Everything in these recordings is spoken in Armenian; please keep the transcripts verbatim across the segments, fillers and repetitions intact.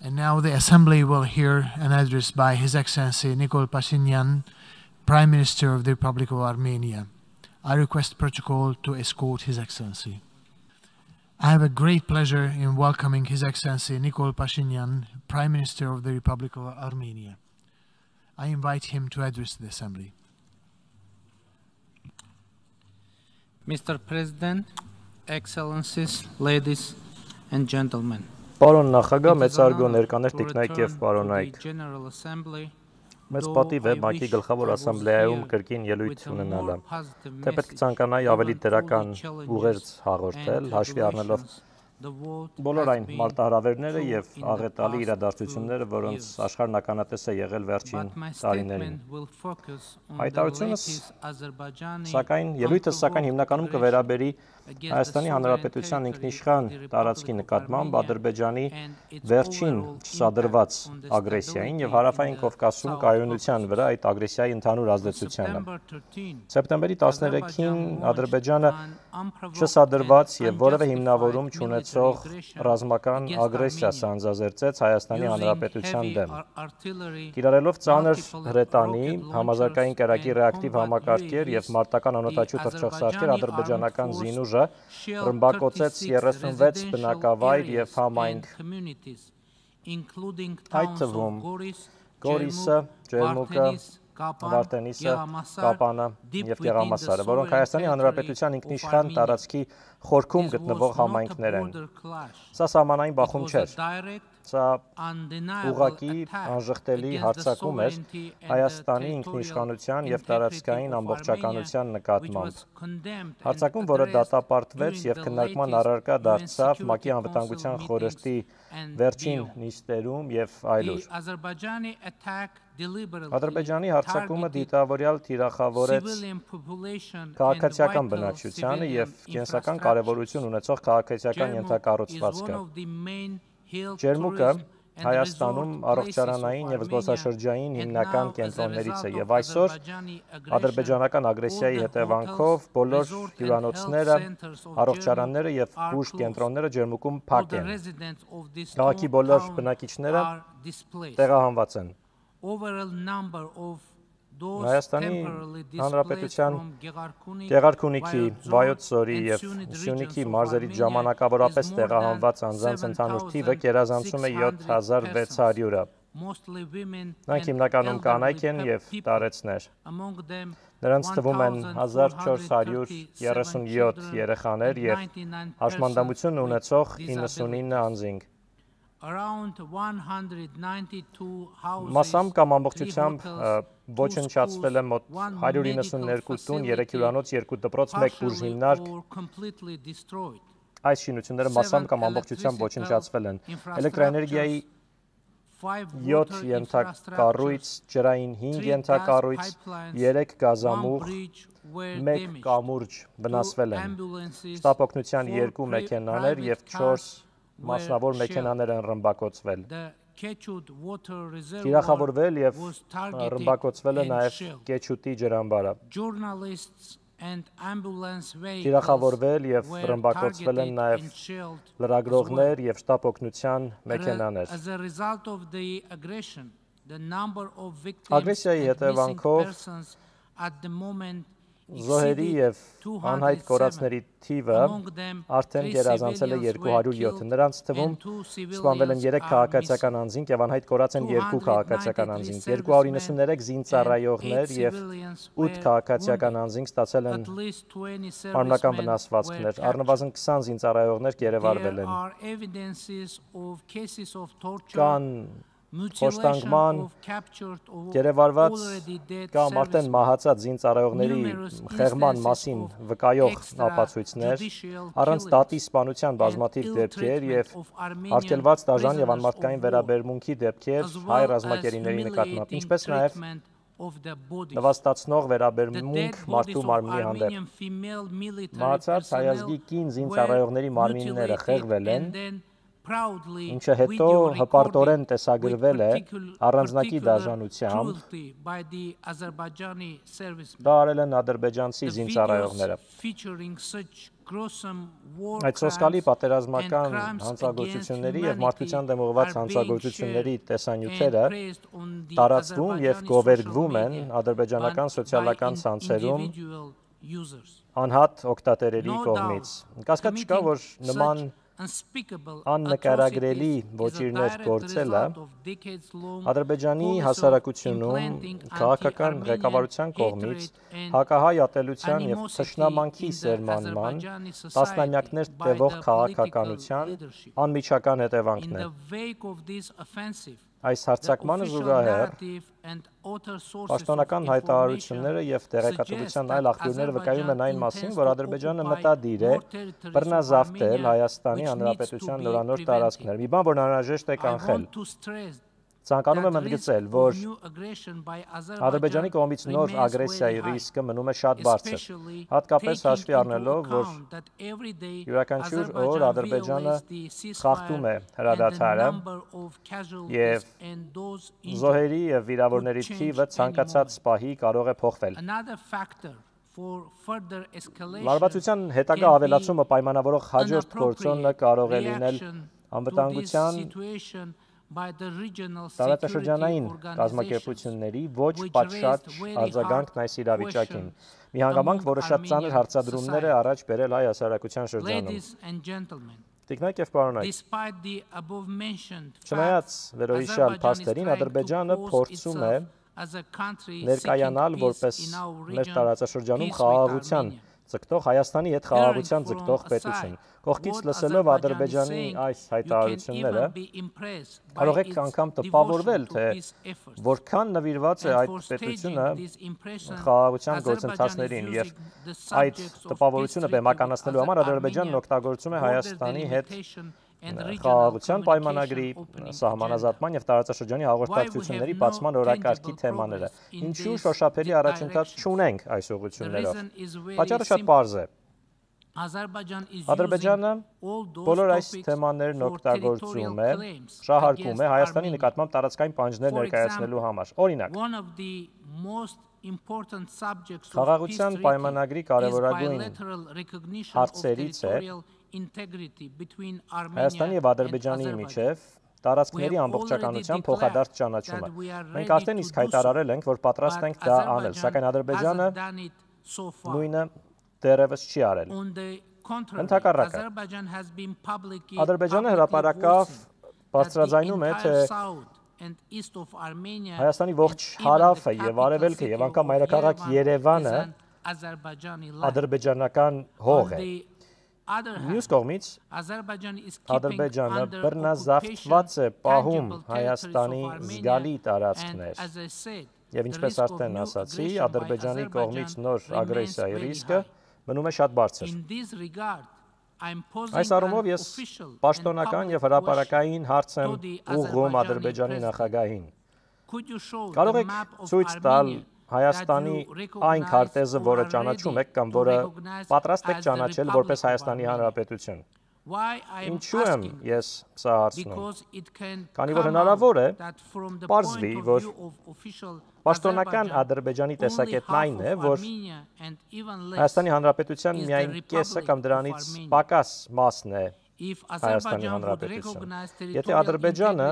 And now the Assembly will hear an address by His Excellency Nikol Pashinyan, Prime Minister of the Republic of Armenia. I request protocol to escort His Excellency. I have a great pleasure in welcoming His Excellency Nikol Pashinyan, Prime Minister of the Republic of Armenia. I invite him to address the Assembly. Mister President, Excellencies, ladies and gentlemen. Պարոն նախագահ, մեծարգո ներկաներ տիկնայք եւ պարոնայք։ Մեծ պատիվ է ՄԱԿ-ի գլխավոր ասամբլեայում կրկին ելույթ ունենալը։ Թե պետք ցանկանայի ավելի դրական ուղերձ հաղորդել, հաշվի առնելով բոլոր այն մարտահրավերները եւ աղետալի իրադարձությունները, որոնց աշխարհն ականատես է եղել վերջին տարիներին։ Հայտարարությունս սակայն ելույթը սակայն հիմնականում կվերաբերի Հայաստանի Հանրապետության ինքնիշխան տարածքի նկատմամբ Ադրբեջանի վերջին չսադրված ագրեսիային եւ Հարավային Կովկասում կայունության վրա այդ ագրեսիայի ընդհանուր ազդեցությանը։ Սեպտեմբերի տասներեքին Ադրբեջանը չսադրված եւ որևէ հիմնավորում չունեցող ռազմական ագրեսիա սանձազերծեց Հայաստանի Հանրապետության դեմ։ Կիրառելով ծանր հրետանի, համազարգային կրակի ռեակտիվ համակարգեր եւ մարտական անօդաչու թռչող ադրբեջանական զինուժ ռմբակոծեց երեսունվեց բնակավայր եւ համայնք, այդ թվում Գորիսը, Ջերմուկը, Վարդենիսը, Կապանը եւ Գեղամասարը, որոնք Հայաստանի Հանրապետության ինքնիշխան տարածքի խորքում գտնվող համայնքներ են։ Սա սահմանային բախում չէր։ Սա ուղղակի անժխտելի հարձակում էր Հայաստանի ինքնիշխանության եւ տարածքային ամբողջականության նկատմամբ։ Հարձակում, որը դատապարտվեց եւ քննարկման առարկա դարձավ ՄԱԿ-ի անվտանգության խորհրդի վերջին նիստերում եւ այլուր։ Ադրբեջանի հարձակումը դիտավորյալ թիրախավորեց քաղաքացիական բնակչությանը եւ կենսական կարեւորություն ունեցող քաղաքացիական ենթակառուցվածքը։ Ջերմուկը Հայաստանում առողջարանային եւ զբոսաշրջային հիմնական կենտրոններից է եւ այսօր ադրբեջանական ագրեսիայի հետևանքով բոլոր հյուրանոցները, առողջարանները եւ բուժ կենտրոնները Ջերմուկում փակ են։ Քաղաքի բոլոր բնակիչները տեղահանված են։ Հայաստանի Հանրապետության Գեղարքունիքի, Վայոց ձորի եւ Սյունիքի մարզերից ժամանակավորապես տեղահանված անձանց ընդհանուր թիվը գերազանցում է յոթ հազար վեց հարյուրը։ Նրանք հիմնականում կանայք են եւ տարեցներ։ Նրանց թվում են հազար չորս հարյուր երեսունյոթ երեխաներ եւ հաշմանդամություն ունեցող իննսունինը անձինք։ Մասամբ կամ ամբողջությամբ ոչնչացվել է մոտ հարյուր իննսուններկու տուն, երեք հյուրանոց, երկու դպրոց, մեկ բուժհիմնարկ։ Այս շինությունները մասամբ կամ ամբողջությամբ ոչնչացվել են։ Էլեկտրաէներգիայի յոթ ենթակառույց, ջրային հինգ ենթակառույց, երեք գազամուղ, մեկ կամուրջ վնասվել են։ Շտապօգնության երկու մեքենաներ եւ չորս մասնավոր մեքենաներ են ռմբակոծվել։ Թիրախավորվել եւ ռմբակոծվել է նաեւ Կեչուտի ջրամբարը։ Թիրախավորվել եւ ռմբակոծվել են նաեւ լրագրողներ եւ շտապօգնության մեքենաներ։ Ագրեսիայի հետևանքով զոհերի եւ անհայտ կորածների թիվը արդեն գերազանցել է երկու հարյուր յոթ։ Նրանց թվում սպանվել են երեք քաղաքացիական անձինք եւ անհայտ կորած են երկու քաղաքացիական անձինք։ երկու հարյուր իննսուններեք զինծառայողներ եւ ութ քաղաքացիական անձինք ստացել են մարմնական վնասվածքներ։ Առնվազն քսան զինծառայողներ գերեվարվել են։ Կան Ոստանգման գերեվարված կամ արդեն մահացած զինծառայողների խեղման մասին վկայող ապացույցներ, առանց դատի սպանության բազմաթիվ դեպքեր եւ արգելված դաժան եւ անմարդկային վերաբերմունքի դեպքեր հայ ռազմակերիների նկատմամբ, ինչպես նաեւ նվաստացնող վերաբերմունք մարդու մարմնի հանդեպ։ Մահացած հայազգի կին զինծառայողների մարմինները խեղվել են ինչը հետո հպարտորեն տեսագրվել է առանձնակի դաժանությամբ, դա արել են ադրբեջանցի զինծառայողները։ Այդ սոսկալի պատերազմական հանցագործությունների և մարդկության դեմ ուղղված հանցագործությունների տեսանյութերը տարածվում և գովերգվում են ադրբեջանական սոցիալական ցանցերում անհատ օգտատերերի կողմից։ Կասկած չկա, որ նման աննկարագրելի ոճիրներ գործելը Ադրբեջանի հասարակությունում քաղաքական ղեկավարության կողմից հակահայ ատելության և թշնամանքի սերմանման, տասնամյակներ տևող քաղաքականության անմիջական հետևանքն է։ Այս հարձակմանը զուգահեռ պաշտոնական հայտարարությունները և տեղեկատվության այլ աղբյուրները վկայում են այն մասին, որ Ադրբեջանը մտադիր է բռնազավթել Հայաստանի Հանրապետության նորանոր տարածքներ, մի բան, որն անհրաժեշտ է կանխել։ Ցանկանում եմ ընդգծել, որ Ադրբեջանի կողմից նոր ագրեսիայի ռիսկը մնում է շատ բարձր, հատկապես հաշվի առնելով, որ յուրաքանչյուր օր Ադրբեջանը խախտում է հրադադարը և զոհերի և վիրավորների թիվը ցանկացած պահի կարող է փոխվել։ Լարվածության հետագա ավելացումը պայմանավորող հաջորդ գործոնը կարող է լինել անվտանգության տարածաշրջանային կազմակերպությունների ոչ պատշաճ արձագանքն այս իրավիճակին, մի հանգամանք, որը շատ ծանր հարցադրումներ է առաջ բերել հայ հասարակության շրջանում։ Տիկնայք և պարոնայք, չնայած վերոհիշյալ փաստերին, Ադրբեջանը փորձում է ներկայանալ որպես մեր տարածաշրջանում խաղաղության ձգտող, Հայաստանի հետ խաղաղության ձգտող պետություն։ Կողքից լսելով Ադրբեջանի այս հայտարարությունները, կարող եք անգամ տպավորվել, թե որքան նվիրված է այդ պետությունը խաղաղության գործընթացներին և այդ տպավորությունը բեմականացնելու համար Ադրբեջանն օգտագործում է Հայաստանի հետ խաղաղության պայմանագրի, սահմանազատման և տարածաշրջանի հաղորդակցությունների բացման օրակարգի թեմաները։ Ինչու շոշափելի առաջընթաց չունենք այս ուղղություններով։ Պատճառը շատ պարզ է։ Ադրբեջանը բոլոր այս թեմաներն օգտագործում է, շահարկում է Հայաստանի նկատմամբ տարածքային պահանջներ ներկայացնելու համար։ Օրինակ, խաղաղության պայմանագրի կարևորագույն հարցերից է Հայաստանի և Ադրբեջանի միջև տարածքների ամբողջականության փոխադարձ ճանաչումը։ Մենք արդեն իսկ հայտարարել ենք, որ պատրաստ ենք դա անել, սակայն Ադրբեջանը նույնը դեռևս չի արել։ Ընդհակառակը, Ադրբեջանը հրապարակավ բարձրաձայնում է, թե Հայաստանի ողջ հարավը և արևելքը և անգամ մայրաքաղաք Երևանը ադրբեջանական հող է։ Մյուս կողմից, Ադրբեջանը բռնազավթված է պահում Հայաստանի զգալի տարածքներ և ինչպես արդեն ասացի, Ադրբեջանի կողմից նոր ագրեսիայի ռիսկը մնում է շատ բարձր։ Այս առումով ես պաշտոնական և հրապարակային հարց եմ ուղղում Ադրբեջանի նախագահին։ Կարող եք ցույց տալ Հայաստանի այն քարտեզը, որը ճանաչում եք կամ որը պատրաստ եք ճանաչել որպես Հայաստանի Հանրապետություն։ Ինչու եմ ես սա հարցնում։ Քանի որ հնարավոր է պարզվի, որ պաշտոնական Ադրբեջանի տեսակետն այն է, որ Հայաստանի Հանրապետության միայն կեսը կամ դրանից պակաս մասն է Հայաստանի Հանրապետություն։ Եթե Ադրբեջանը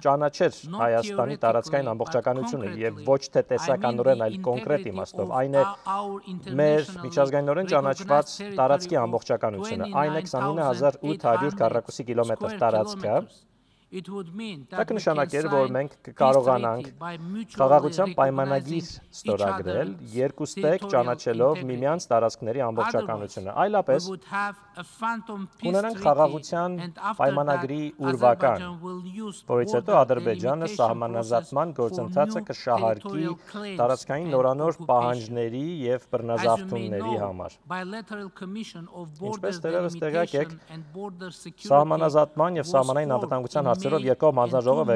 ճանաչեր Հայաստանի տարածքային ամբողջականությունը և ոչ թե տեսականորեն, այլ կոնկրետ իմաստով, այն է մեր միջազգայինորեն ճանաչված տարածքի ամբողջականությունը, այն է քսանինը հազար ութ հարյուր քառակուսի կիլոմետր տարածքը, դա կնշանակեր, որ մենք կկարողանանք խաղաղության պայմանագիր ստորագրել, երկուստեք ճանաչելով միմյանց տարածքների ամբողջականությունը։ Այլապես կունենանք խաղաղության պայմանագրի ուրվական, որից հետո Ադրբեջանը սահմանազատման գործընթացը կշահարկի տարածքային նորանոր պահանջների և բռնազավթումների համար։ Ինչպես դեռևս տեղյակ եք, սահմանազատման և սահմանային անվտանգության հարցերով երկկողմ հանձնաժողով է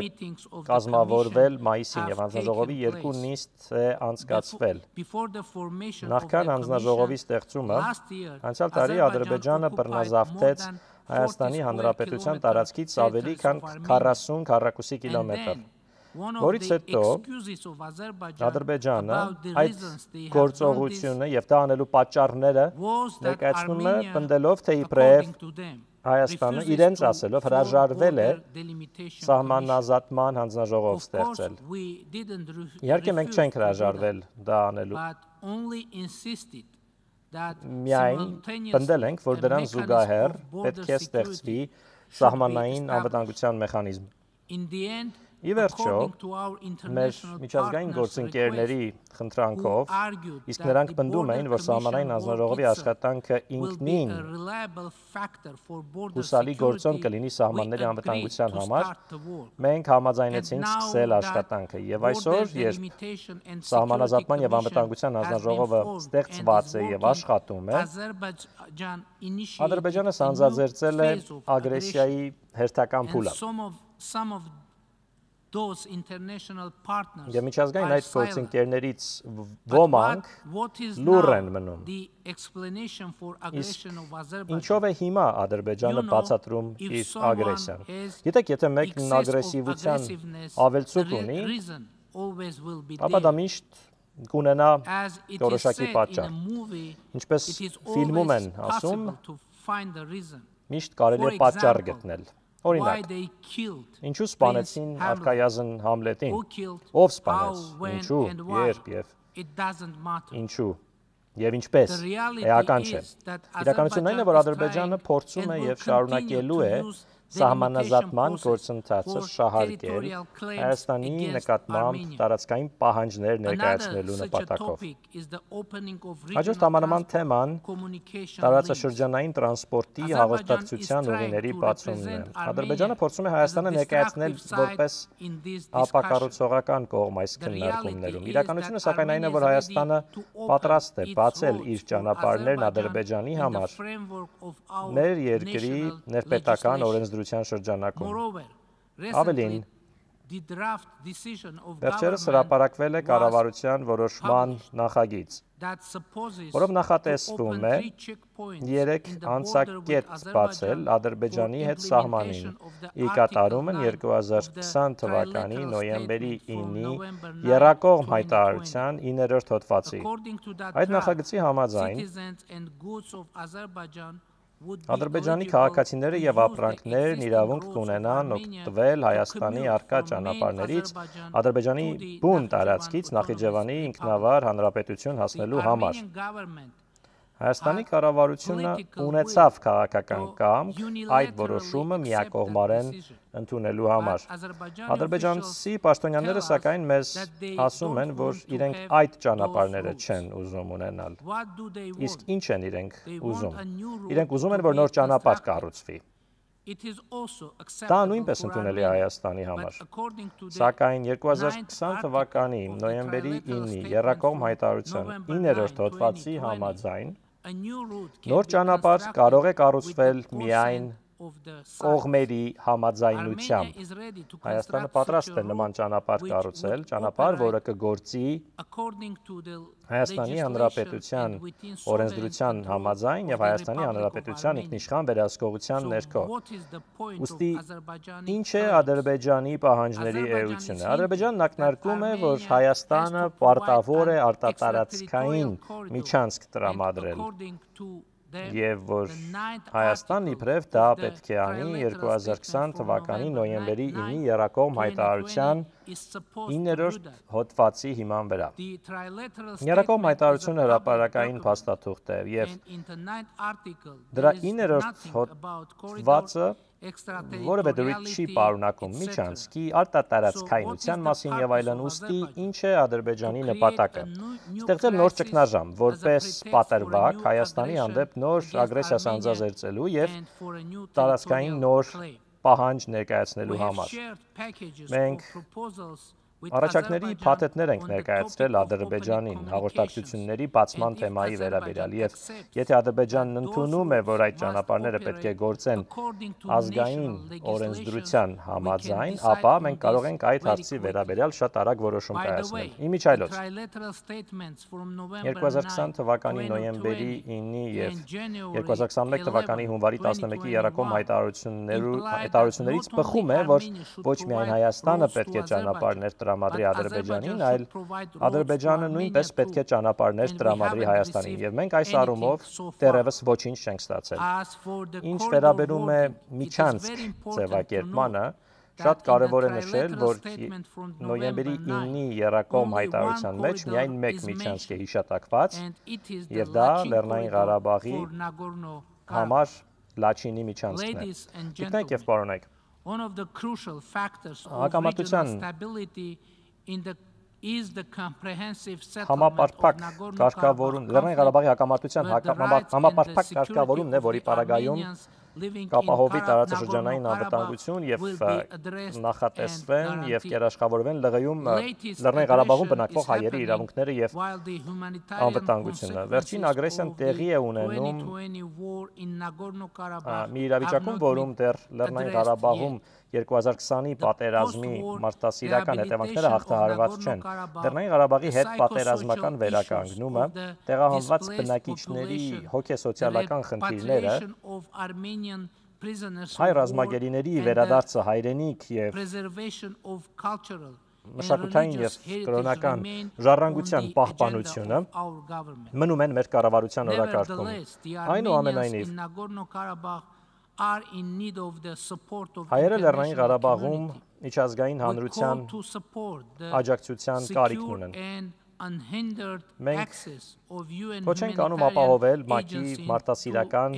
կազմավորվել մայիսին և հանձնաժողովի երկու նիստ է անցկացվել։ Նախքան հանձնաժողովի ստեղծումը, անցյալ տարի Ադրբեջանը բռնազավթեց Հայաստանի Հանրապետության տարածքից ավելի քան քառասուն քառակուսի կիլոմետր, որից հետո Ադրբեջանը այդ գործողությունը եւ դա անելու պատճառները ներկայացնում է պնդելով, թե իբրև Հայաստանը իրենց ասելով հրաժարվել է սահմանազատման հանձնաժողով ստեղծել։ Իհարկե մենք չենք հրաժարվել դա անելու։ Միայն պնդել ենք, որ դրան զուգահեռ պետք է ստեղծվի սահմանային անվտանգության մեխանիզմ։ Ի վերջո, մեր միջազգային գործընկերների խնդրանքով, իսկ նրանք պնդում էին, որ սահմանային հանձնաժողովի աշխատանքը ինքնին հուսալի գործոն կլինի սահմանների անվտանգության համար, մենք համաձայնեցինք սկսել աշխատանքը։ Եվ այսօր, երբ սահմանազատման եւ անվտանգության հանձնաժողովը ստեղծված է եւ աշխատում է, Ադրբեջանը սանձազերծել է ագրեսիայի հերթական փուլը։ Եվ միջազգային այդ գործընկերներից ոմանք լուռ են մնում։ Իսկ ինչով է հիմա Ադրբեջանը բացատրում իր ագրեսիան։ Գիտեք, եթե մեկն ագրեսիվության ավելցուկ ունի, ապա դա միշտ կունենա որոշակի պատճառ։ Ինչպես ֆիլմում են ասում, միշտ կարելի է պատճառ գտնել։ Օրինակ, ինչու սպանեցին արքայազն Համլետին, ով սպանեց, ինչու, երբ և ինչու և ինչպես, էական չէ։ Իրականությունն այն է, որ Ադրբեջանը փորձում է և շարունակելու է սահմանազատման գործընթացը շահարկել Հայաստանի նկատմամբ տարածքային պահանջներ ներկայացնելու նպատակով։ Հաջորդ համանման թեման տարածաշրջանային տրանսպորտի հաղորդակցության ուղիների բացումն է։ Ադրբեջանը փորձում է Հայաստանը ներկայացնել որպես ապակառուցողական կողմ այս քննարկումներում։ Իրականությունը սակայն այն է, որ Հայաստանը պատրաստ է բացել իր ճանապարհներն Ադրբեջանի համար մեր երկրի ներպետական օրենսդրության շրջանակում։ Ավելին, վերջերս հրապարակվել է կառավարության որոշման նախագիծ, որով նախատեսվում է երեք անցակետ բացել Ադրբեջանի հետ սահմանին, ի կատարումն երկու հազար քսան թվականի նոյեմբերի ինի եռակողմ հայտարարության իններորդ հոդվածի։ Այդ նախագծի համաձայն Ադրբեջանի քաղաքացիները եւ ապրանքներն իրավունք կունենան օգտվել Հայաստանի առկա ճանապարհներից Ադրբեջանի բուն տարածքից Նախիջևանի ինքնավար հանրապետություն հասնելու համար։ Հայաստանի կառավարությունը ունեցավ քաղաքական կամք այդ որոշումը միակողմարեն ընդունելու համար։ Ադրբեջանցի պաշտոնյաները սակայն մեզ ասում են, որ իրենք այդ ճանապարհները չեն ուզում ունենալ։ Իսկ ինչ են իրենք ուզում։ Իրենք ուզում են, որ նոր ճանապարհ կառուցվի։ Դա նույնպես ընդունելի է Հայաստանի համար։ Սակայն երկու հազար քսան թվականի նոյեմբերի ինի եռակողմ հայտարարության իններորդ հոդվածի համաձայն նոր ճանապարհ կարող է կառուցվել միայն կողմերի համաձայնությամբ։ Հայաստանը պատրաստ է նման ճանապարհ կառուցել, ճանապարհ, որը կգործի Հայաստանի Հանրապետության օրենսդրության համաձայն եւ Հայաստանի Հանրապետության ինքնիշխան վերահսկողության ներքո։ Ուստի ինչ է Ադրբեջանի պահանջների էությունը։ Ադրբեջանն ակնարկում է, որ Հայաստանը պարտավոր է արտատարածքային միջանցք տրամադրել եւ որ Հայաստանն իբրև դա պետք է անի երկու հազար քսան թվականի նոյեմբերի ինի եռակողմ հայտարարության իններորդ հոդվածի հիման վրա։ Եռակողմ հայտարարությունը հրապարակային փաստաթուղթ է եւ դրա իններորդ հոդվածը որևէ դրույթ չի պարունակում միջանցքի արտատարածքայնության մասին եւ այլն, ուստի ինչ է Ադրբեջանի նպատակը։ Ստեղծել նոր ճգնաժամ, որպես պատրվակ Հայաստանի հանդեպ նոր ագրեսիա սանձազերծելու եւ տարածքային նոր պահանջ ներկայացնելու համար։ Մենք Առաջարկների փաթեթներ ենք ներկայացրել Ադրբեջանին հաղորդակցությունների բացման թեմայի վերաբերյալ եւ եթե Ադրբեջանն ընդունում է, որ այդ ճանապարհները պետք է գործեն ազգային օրենսդրության համաձայն, ապա մենք կարող ենք այդ հարցի վերաբերյալ շատ արագ որոշում կայացնել։ Իմիջիայլոց երկու հազար քսան թվականի նոյեմբերի ինի եւ երկու հազար քսանմեկ թվականի հունվարի տասնմեկի Երակոմ հայտարարություններից բխում է, որ ոչ միայն Հայաստանը պետք է ճանապարհներ տրամադրի Ադրբեջանին, այլ Ադրբեջանը նույնպես պետք է ճանապարհներ տրամադրի Հայաստանին, եւ մենք այս առումով դեռևս ոչինչ չենք ստացել։ Ինչ վերաբերում է Միչանսկ ձևակերպմանը, շատ կարևոր է նշել, որ նոյեմբերի ինի Երակոմ հայտարարության մեջ միայն մեկ Միչանսկ է հիշատակված, եւ դա Լեռնային Ղարաբաղի համար Լաչինի Միչանսկն է։ Գիտեք եւ պարոնայք, հակամարտության համապարփակ կարգավորում, Լեռնային Ղարաբաղի հակամարտության համապարփակ կարգավորումն է, որի պարագայում կապահովի տարածաշրջանային անվտանգություն եւ նախատեսվեն եւ կերաշխավորվեն ԼՂ-ում Լեռնային Ղարաբաղում բնակվող հայերի իրավունքները եւ անվտանգությունը։ Վերջին ագրեսիան տեղի է ունենում մի իրավիճակում, որում դեռ Լեռնային Ղարաբաղում երկու հազար քսանի պատերազմի մարդասիրական հետևանքները հաղթահարված չեն։ Լեռնային Ղարաբաղի հետ պատերազմական վերականգնումը, տեղահանված բնակիչների հոգեսոցիալական խնդիրները, հայ ռազմագերիների վերադարձը հայրենիք եւ մշակութային եւ կրոնական ժառանգության պահպանությունը մնում են մեր կառավարության օրակարգում։ Այնուամենայնիվ, հայերը Լեռնային Ղարաբաղում միջազգային հանրության աջակցության կարիք ունեն։ Մենք ոչ ենք անում ապահովել ՄԱԿ-ի մարդասիրական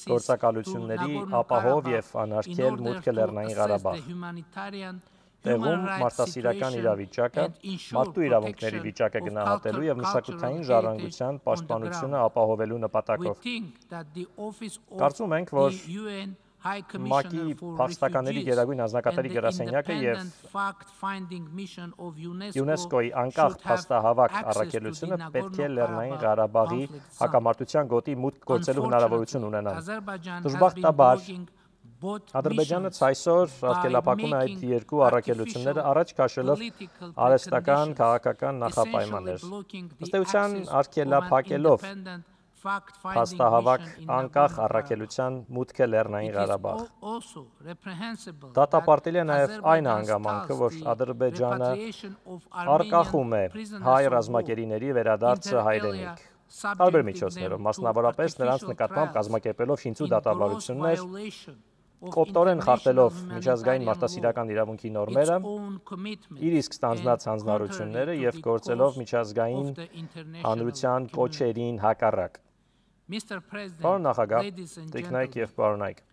գործակալությունների ապահով եւ անարգել մուտքը Լեռնային Ղարաբաղ։ Տեղում մարդասիրական իրավիճակը, մարդու իրավունքների վիճակը գնահատելու եւ մշակութային ժառանգության պաշտպանությունը ապահովելու նպատակով։ Կարծում ենք, որ ՄԱԿ-ի փախստականների գերագույն հանձնակատարի գրասենյակը եւ ՅՈՒՆԵՍԿՕ-ի անկախ փաստահավաք առաքելությունը պետք է Լեռնային Ղարաբաղի հակամարտության գոտի մուտք գործելու հնարավորություն ունենան։ Դժբախտաբար, Ադրբեջանից այսօր արգելափակում է այդ երկու առաքելությունները առաջ քաշելով արհեստական քաղաքական նախապայմաններ։ Ըստ էության արգելափակելով փաստահավաք անկախ առաքելության մուտքը Լեռնային Ղարաբաղ։ Դատապարտել է նաև այն հանգամանքը, որ Ադրբեջանը առկախում է հայ ռազմագերիների վերադարձը հայրենիք։ Տարբեր միջոցներով, մասնավորապես նրանց նկատմամբ կազմակերպելով շինծու դատավարություններ, կոպտորեն խախտելով միջազգային մարդասիրական իրավունքի նորմերը, իր իսկ ստանձնած հանձնառությունները եւ գործելով միջազգային հանրության կոչերին հակառակ։ Պարոն նախագահ, տիկնայք եւ պարոնայք,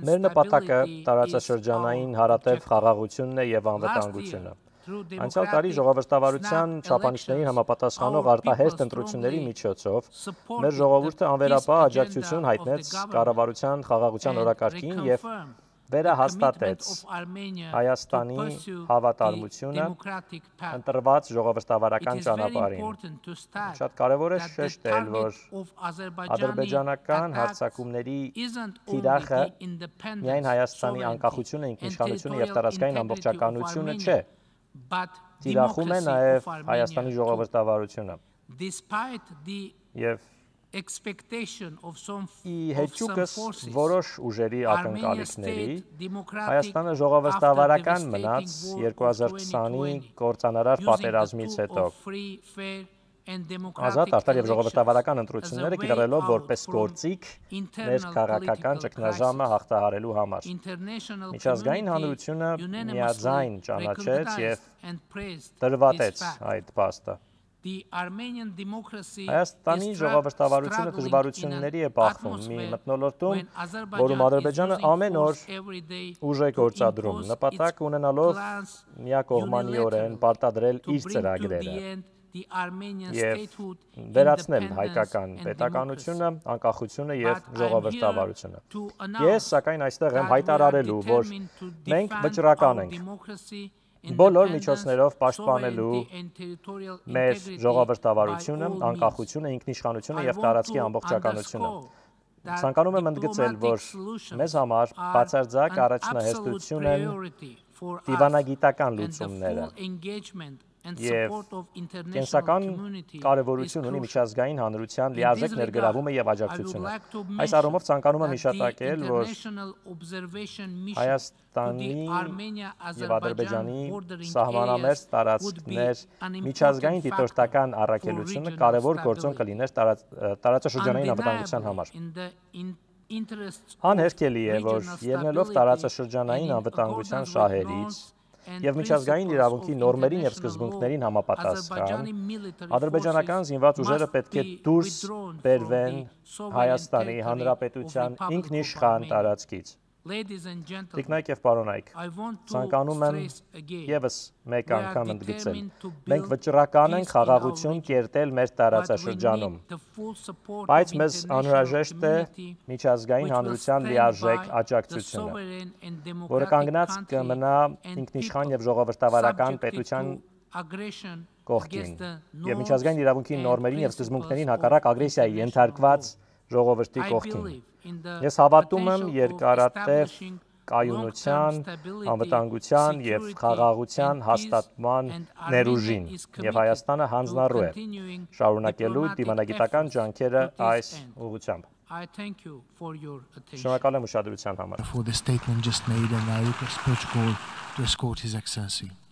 մեր նպատակը տարածաշրջանային հարատև խաղաղությունն է եւ անվտանգությունը։ Անցյալ տարի ժողովրդավարության չափանիշներին համապատասխանող արտահերթ ընտրությունների միջոցով մեր ժողովուրդը անվերապահ աջակցություն հայտնեց կառավարության խաղաղության օրակարգին եւ վերահաստատեց Հայաստանի հավատարմությունը ընտրված ժողովրդավարական ճանապարհին։ Շատ կարևոր է շեշտել, որ ադրբեջանական հարձակումների թիրախը միայն Հայաստանի անկախությունը, ինքնիշխանությունը եւ տարածքային ամբողջականությունը չէ, թիրախում է նաև Հայաստանի ժողովրդավարությունը։ Եվ ի հեճուկս որոշ ուժերի ակնկալիքների, Հայաստանը ժողովրդավարական մնաց երկու հազար քսանի կործանարար պատերազմից հետո։ Ազատ, արդար եւ ժողովրդավարական ընտրությունները կիրառելով որպես գործիք մեր քաղաքական ճգնաժամը հաղթահարելու համար։ Միջազգային հանրությունը միաձայն ճանաչեց եւ դրվատեց այդ փաստը։ Հայաստանի ժողովրդավարությունը դժվարությունների է բախվում մի մթնոլորտում, որում Ադրբեջանը ամեն օր ուժ է գործադրում, նպատակ ունենալով միակողմանիորեն պարտադրել իր ծրագրերը։ եւ վերացնել հայկական պետականությունը, անկախությունը եւ ժողովրդավարությունը։ Ես սակայն այստեղ եմ հայտարարելու, որ մենք վճռական ենք բոլոր միջոցներով պաշտպանելու մեր ժողովրդավարությունը, անկախությունը, ինքնիշխանությունը եւ տարածքի ամբողջականությունը։ Ցանկանում եմ ընդգծել, որ մեզ համար բացարձակ առաջնահերթություն են դիվանագիտական լուծումները եւ կենսական կարեւորություն ունի միջազգային հանրության լիարժեք ներգրավումը եւ աջակցությունը։ Այս առումով ցանկանում եմ հիշատակել, որ Հայաստանի եւ Ադրբեջանի սահմանամերձ տարածքներ միջազգային դիտորդական առաքելությունը կարևոր գործոն կլիներ տարածաշրջանային անվտանգության համար։ Անհերքելի է, որ ելնելով տարածաշրջանային անվտանգության շահերից եւ միջազգային իրավունքի նորմերին եւ սկզբունքներին համապատասխան, ադրբեջանական զինված ուժերը պետք է դուրս բերվեն Հայաստանի Հանրապետության ինքնիշխան տարածքից։ Տիկնայք եւ պարոնայք, ցանկանում եմ եւս մեկ անգամ ընդգծել, մենք վճռական ենք խաղաղություն կերտել մեր տարածաշրջանում, բայց մեզ անհրաժեշտ է միջազգային հանրության լիարժեք աջակցությունը, որը կանգնած կմնա ինքնիշխան եւ ժողովրդավարական պետության կողքին եւ միջազգային իրավունքի նորմերին եւ սկզբունքներին հակառակ ագրեսիայի ենթարկված ժողովրդի կողքին։ Ես հավատում եմ երկարատև կայունության, անվտանգության եւ խաղաղության հաստատման ներուժին եւ Հայաստանը հանձնառու է շարունակելու դիվանագիտական ջանքերը այս ուղղությամբ։ Շնորհակալ եմ ուշադրության համար։ For the statement just made and I request protocol to escort His Excellency.